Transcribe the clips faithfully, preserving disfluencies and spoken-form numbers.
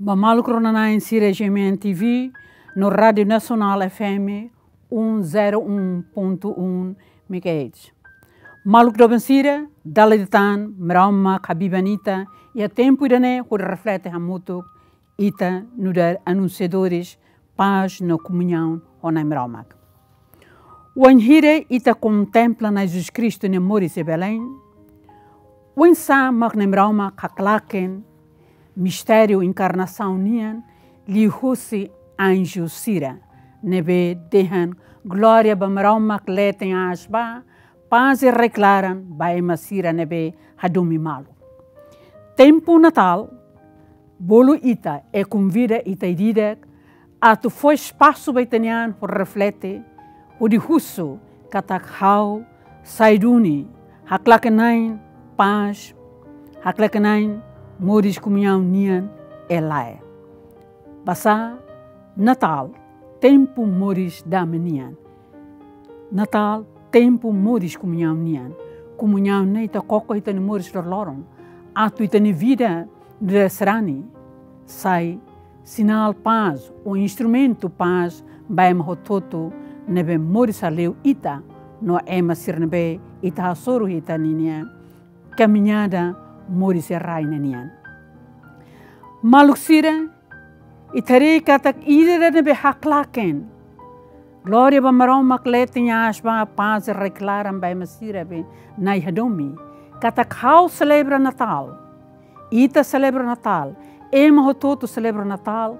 Ba maluk rona-na'in sira G M N T V, no Rádiu Nasionál F M um zero um ponto um megahertz. Maluk doben sira, dala ida tan, Maromak habiban ita, iha tempu ida-ne'e, hodi reflete hamutuk, ita nu'udar anunsiadores pás no komuñaun ho Na'i Maromak. Wainhira ita kontempla Na'i Jesus Kristu nia moris iha Belém, oinsá mak Na'i Maromak haklaken mistériu enkarnasaun nian liuhusi anju sira, ne'ebé dehan: "Glória ba Maromak leten aas ba, pás iha rai-klaran ba ema sira ne'ebé hadomi malu." Tempu Natál, bolu ita, i konvida ita ida-idak atu fó espasu ba ita-nia an hodi reflete, hodi husu katak ha'u sai duni haklaken-na'in pás, haklaken-na'in moris komuñaun nian ka lae. Basá Natál tempu moris dame nian. Natál tempu moris komuñaun nian. Komuñaun ne'e ita koko iha ita-nia moris loroloron. Atu ita-nia vida nu'udar sarani sai sinál pás, ou instrumentu pás ba ema hotu-hotu ne'ebé moris hale'u ita no ema sira ne'ebé ita hasoru iha ita-nia kamiñada moris iha rai ne'e nian. Maluk sira, ita haree katak ida-idak ne'ebé haklaken "Glória ba Maromak leten aas ba, pás iha rai-klaran ba ema sira ne'ebé Na'i hadomi." Katak ha'u selebra Natál, ita selebra Natál, ema hotu-hotu selebra Natál,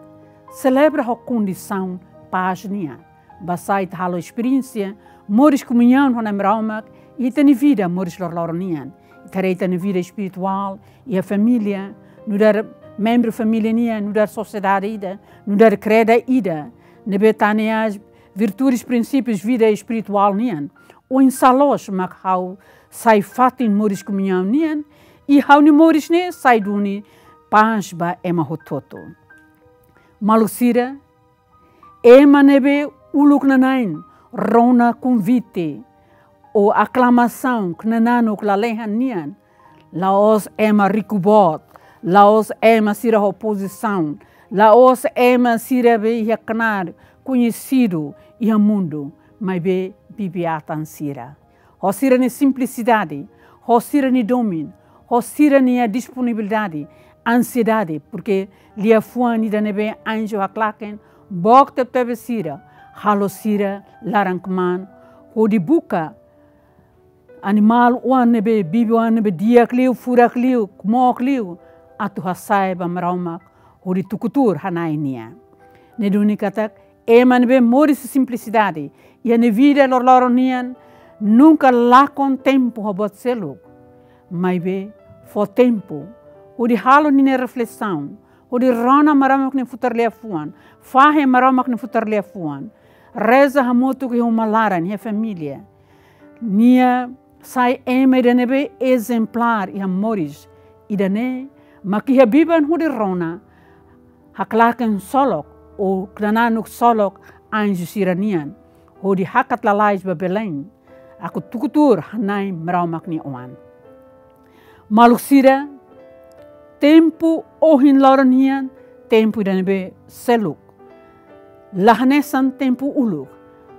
selebra ho kondisaun pás nian. Basá ita halo esperiénsia moris komuñaun ho Na'i Maromak iha ita-nia vida moris loroloron nian. Ita haree ita-nia vida espirituál, iha família, nu'udar membru família nian, nu'udar sosiedade ida, nu'udar kreda ida, ne'ebé tane as virtudes, prinsípius vida espirituál nian. Oinsá loos mak ha'u sai fatin moris komuñaun nian, i ha'u-nia moris ne'e sai duni pás ba ema hotu-hotu. Maluk sira, ema ne'ebé uluk nana'in rona konvite ou aklamasaun knananuk lalehan nian, la'ós ema riku boot, la'ós ema sira ho pozisaun, la'ós ema sira ne'ebé iha knaar koñesidu iha mundu, maibé bibi-atan sira. Ho sira-nia simplisidade, ho sira-nia domin, ho sira-nia disponibilidade, ansiedade, porke liafuan ida ne'ebé anju haklaken, book tebetebes sira, halo sira laran-kmaan, hodi buka animál oan ne'ebé, bibi-oan ne'ebé di'ak liu, furak liu, mook liu, atu hasa'e ba Maromak, hodi tuku tuur hana'i nia. Ne'e duni katak, ema ne'ebé moris simplisidade iha nia vida loroloron nian, nunka lakon tempu ho buat seluk. Maibé fó tempu hodi halo ninia reflesaun, hodi rona Maromak nia futar liafuan, fahe Maromak nia futar liafuan, reza hamutuk iha uma laran, iha família. Nia sai ema ida ne'ebé ezemplár iha moris. Ida-ne'e mak iha biban hodi rona haklaken ksolok ou knananuk ksolok anju sira-nian, hodi hakat lalais ba Belém, atu tuku tuur hana'i Maromak nia Oan. Maluk sira, tempu ohin loron nian, tempu ida ne'ebé seluk. La hanesan tempu uluk,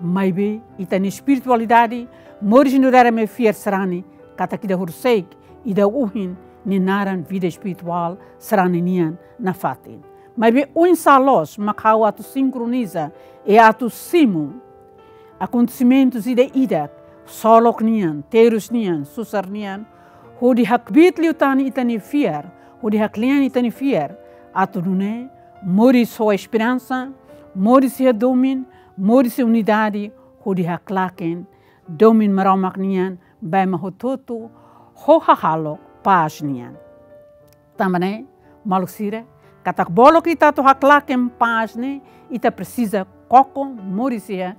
maibé ita-nia espiritualidade, moris nu'udar ema fiar sarani, katak ida horiseik, ida ohin, nia naran vida espirituál sarani nian nafatin. Maibé oinsá loos mak ha'u atu sinkroniza i atu simu akontesimentus ida-idak, ksolok nian, terus nian, susar nian, hodi hakbiit liután ita-nia fiar, hodi haklean ita-nia fiar, atu nune'e moris ho esperansa, moris iha domin, moris iha unidade, hodi haklaken domin Maromak nian ba ema hotu-hotu, ho hahalok pás nian. Tanba ne'e, maluk sira, katak bolu ita atu haklaken pás ne'e, ita presiza koko moris iha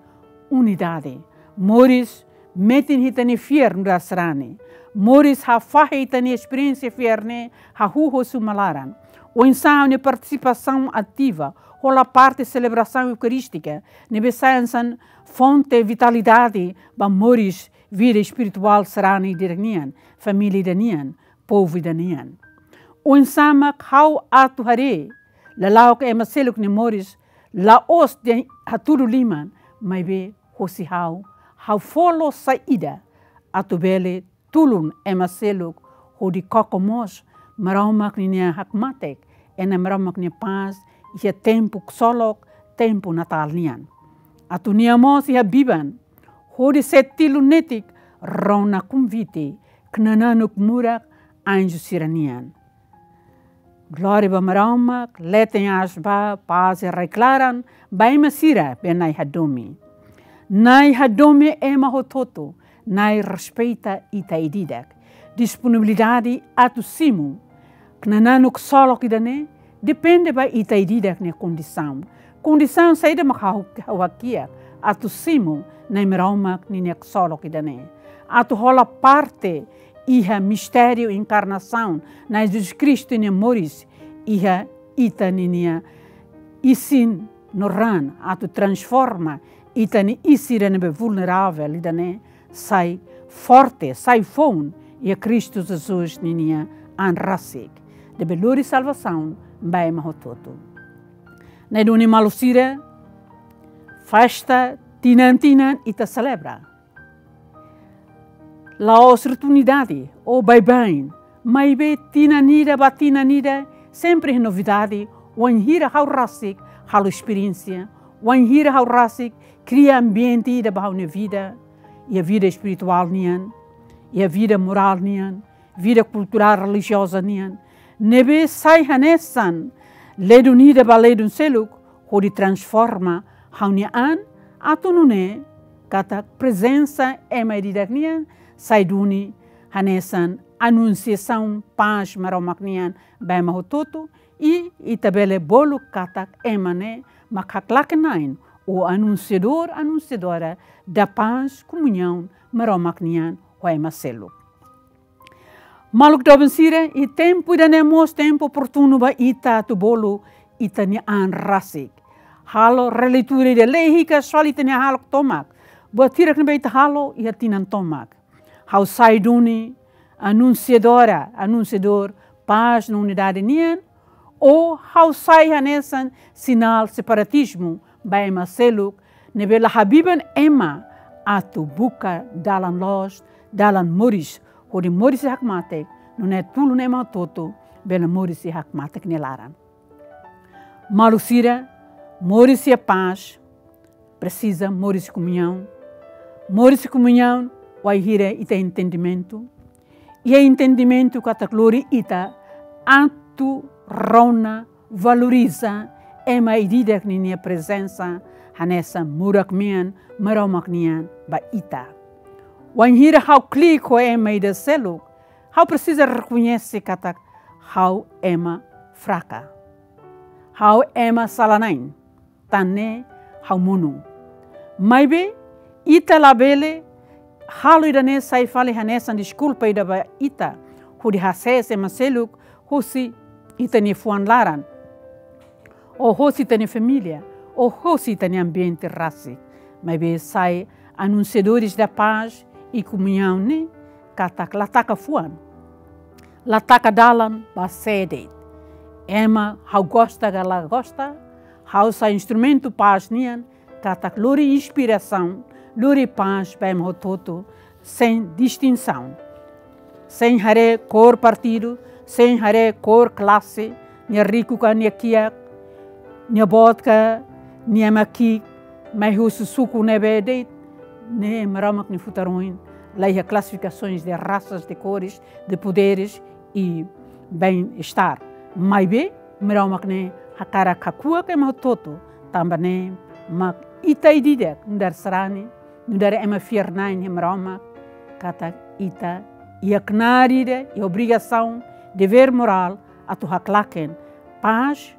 unidade. Moris metin ita-nia fiar nu'udar sarani. Moris hafahe ita-nia esperiénsia fiar ne'e hahú husi uma laran. Oinsá ha'u-nia partisipasaun ativa, hola parte selebrasaun eukarístika, ne'ebé sai hanesan fonte vitalidade ba moris vida espirituál sarani ida-nian, família ida-nian, povu ida-nian. Oinsá mak ha'u atu haree lala'ok ema seluk nia moris, la'ós de'it hatudu liman, maibé hosi ha'u, ha'u fó loos saida atu bele tulun ema seluk hodi koko mós Maromak ninia hakmatek, Nai Maromak nia pás iha tempu ksolok, tempu Natál nian. Atu nia mós iha biban, hodi sei tilun netik rona konvite knananuk murak anju sira-nian. Glória ba Maromak, leten aas ba, pás iha rai-klaran ba ema sira be Nai hadomi. Nai hadomi ema hotu-hotu, Nai respeita ita ida-idak. Disponibilidade atu simu knananuk ksolok ida-ne'e depende ba ita ida-idak nia kondisaun. Kondisaun saida mak ha'u, ha'u hakiak atu simu Nai Maromak ninia ksolok ida-ne'e? Atu hola parte iha mistériu enkarnasaun Nai Jesus Kristu nia moris iha ita ninia isin no raan, atu transforma ita-nia isin ida ne'ebé vulneravel ida-ne'e sai forte, sai foun iha Kristu Jesus ninia an rasik, ne'ebé lori salvasaun ba ema hotu-hotu. Ne'e duni maluk sira, festa tinan-tinan ita selebra. La'ós rotundidade ou baibain, maibé tinan ida ba tinan ida, sempre novidade, wainhira ha'u rasik halo esperiénsia, wainhira ha'u rasik kria ambiente ida ba ha'u-nia vida, iha vida espirituál nian, iha vida morál nian, vida kulturál relijioza nian, ne'ebé sai hanesan ledun ida ba ledun seluk, hodi transforma ha'u-nia an, atu nune'e katak prezensa ema ida-idak nian sai duni hanesan anunsiasaun pás Maromak nian ba ema hotu-hotu, i ita bele bolu katak ema ne'e mak haklaken-na'in, ou anunsiadór, anunsiadora da paz, komuñaun Maromak nian ho ema seluk. Maluk doben sira, iha tempu ida-ne'e mós tempu oportunu ba ita atu bolu ita-nia an rasik. Halo releitura ida, lee hikas fali ita-nia hahalok tomak. Buat hirak ne'ebé ita halo iha tinan tomak. Ha'u sai duni anunsiadora, anunsiadór pás no unidade nian, ou ha'u sai hanesan sinál separatizmu ba ema seluk, ne'ebé la habiban ema atu buka dalan loos, dalan moris, hodi moris iha hakmatek, nune'e tulun ema hotu-hotu bele moris iha hakmatek nia laran. Maluk sira, moris iha pás presiza moris komuñaun. Moris komuñaun wainhira ita entendimentu. Iha entendimentu katak lori ita atu rona, valoriza ema ida-idak ninia prezensa hanesan murak-mean Maromak nian ba ita. Wainhira ha'u klik ho ema ida seluk, ha'u presiza rekoñese katak ha'u ema fraka. Ha'u ema sala-na'in. Tan ne'e ha'u monu. Maibé, ita labele halo ida-ne'e sai fali hanesan deskulpa ida ba ita, hodi hasees ema seluk hosi ita-nia fuan laran, ou hosi ita-nia família, ou hosi ita-nia ambiente rasik. Maibé sai anunsiadores da paz e comunhão ne'e katak la taka fuan, la taka dalan ba sé de'it. Ema ha'u gosta ka la gosta, ha'u sai instrumentu pás nian, katak lori inspirasaun, lori pás ba ema hotu-hotu, sein distinsaun. Sein haree kór partidu, sein haree kór klase, nia riku ka nia kiak, nia boot ka nia ema ki'ik, mai husi suku ne'ebé de'it, ne'e Maromak nia futar oin, la iha classificações de raças, de cores, de poderes e bem-estar. Maibé, Maromak ne'e hakarak hakuak ema hotu-hotu, tanba ne'e mak ita ida-idak nu'udar sarani, nu'udar ema fiar-na'in iha Maromak, katak ita iha knaar ida, iha obrigasaun, devér morál, atu haklaken pás,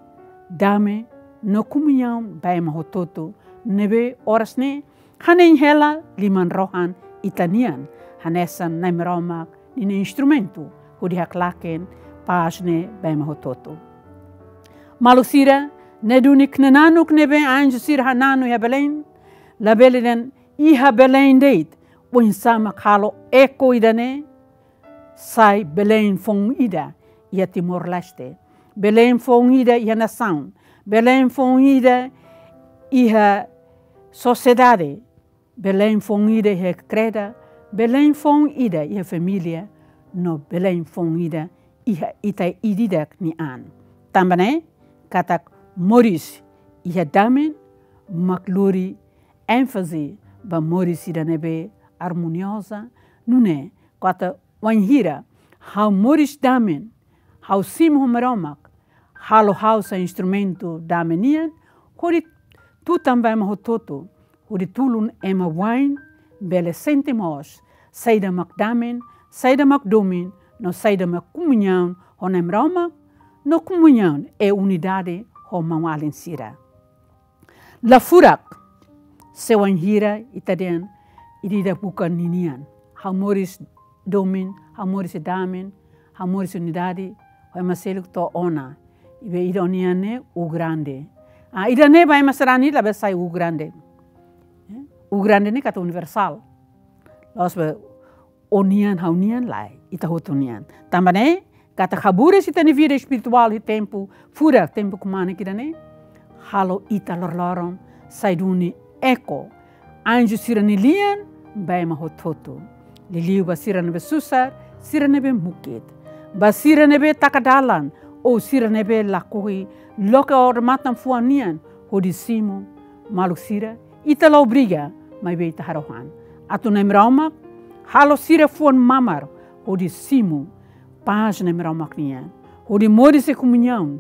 dame, no komuñaun ba ema hotu-hotu, ne'ebé oras ne'e hanein hela liman-rohan ita-nian, hanesan Nai Maromak ninia instrumentu hodi haklaken pás ne'e ba ema hotu-hotu. Maluk sira, ne'e duni knananuk ne'ebé anju sira hananu iha Belém, labele dehan iha Belém de'it, oinsá mak halo eko ida-ne'e sai Belém foun ida iha Timor-Leste. Belém foun ida iha nasaun, Belém foun ida iha sosiedade, Belém foun ida iha kreda, Belém foun ida iha família, no Belém foun ida iha ita ida-idak nia an. Tanba ne'e, katak moris iha dame mak lori énfaze ba moris ida ne'ebé armonioza, nune'e, katak wainhira ha'u moris dame, ha'u simu ho Maromak, halo ha'u sai instrumentu dame nian, hodi tutan ba ema hotu-hotu, hodi tulun ema wa'in bele sente mós saida mak dame, saida mak domin, no saida mak komuñaun ho Nai Maromak, no komuñaun i unidade ho maun-alin sira. La furak, se wainhira ita dehan ida-idak buka ninian. Ha'u moris domin, ha'u moris dame, ha'u moris unidade, ho ema seluk to'o ona. Ibe ida ó-nian ne'e u grande. Ah, ida-ne'e ba ema sarani labele sai u grande. Eh, u grande ne'e katak universál. La'ós ba ó-nian, ha'u-nian, lae, ita hotu nian. Tanba ne'e, katak haburas ita-nia vida espirituál iha tempu furak, tempu kmanek ida-ne'e, halo ita loroloron sai duni eko anju sira-nia lian ba ema hotu-hotu. Liuliu ba sira ne'ebé susar, sira ne'ebé mukit. Ba sira ne'ebé taka dalan, ou sira ne'ebé lakohi loke odamatan fuan nian hodi simu, maluk sira, ita la obriga, maibé ita harohan. Atu Nai Maromak halo sira fuan mamar hodi simu pás Nai Maromak nian, hodi moris iha komuñaun,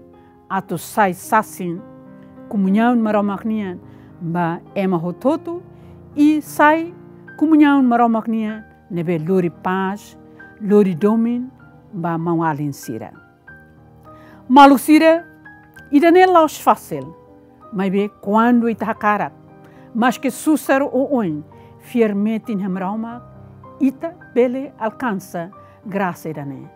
atu sai sasin komuñaun Maromak nian ba ema hotu-hotu, i sai komuñaun Maromak nian ne'ebé lori pás, lori domin ba maun-alin sira. Maluk sira, ida-ne'e la'ós fasil, maibé kuandu ita hakarak, maske susar ou oin, fiar metin iha Maromak, ita bele alkansa grasa ida-ne'e.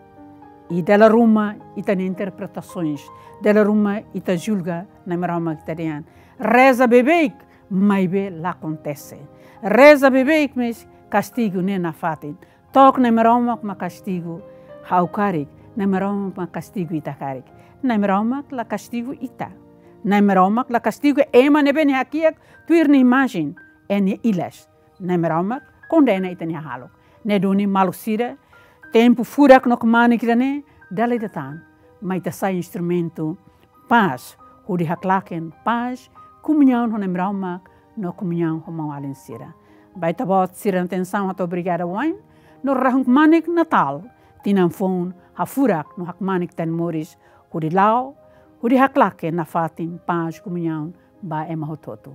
I dala ruma ita-nia interpretasoens, dala ruma ita julga Nai Maromak, ita dehan: Reza beibeik, maibé la akontese. Reza beibeik, mais kastigu ne'e nafatin. To'ok Nai Maromak mak kastigu ha'u karik, Nai Maromak mak kastigu ita karik. Nai Maromak la kastigu ita. Nai Maromak la kastigu ema ne'ebé nia hakiak tuir nia imajen, i nia ilas. Nai Maromak kondena ita-nia hahalok. Ne'e duni maluk sira, tempu furak no kmanek ida-ne'e, dala ida tan, mai ita sai instrumentu pás, hodi haklaken pás, komuñaun ho Nai Maromak, no komuñaun ho maun-alin sira. Ba ita-boot sira-nia atensaun hato'o obrigada wa'in, no rahun kmanek Natál, tinan foun hafurak no hakmanek ita-nia moris, hodi la'o, hodi haklaken nafatin pás, komuñaun ba ema hotu-hotu.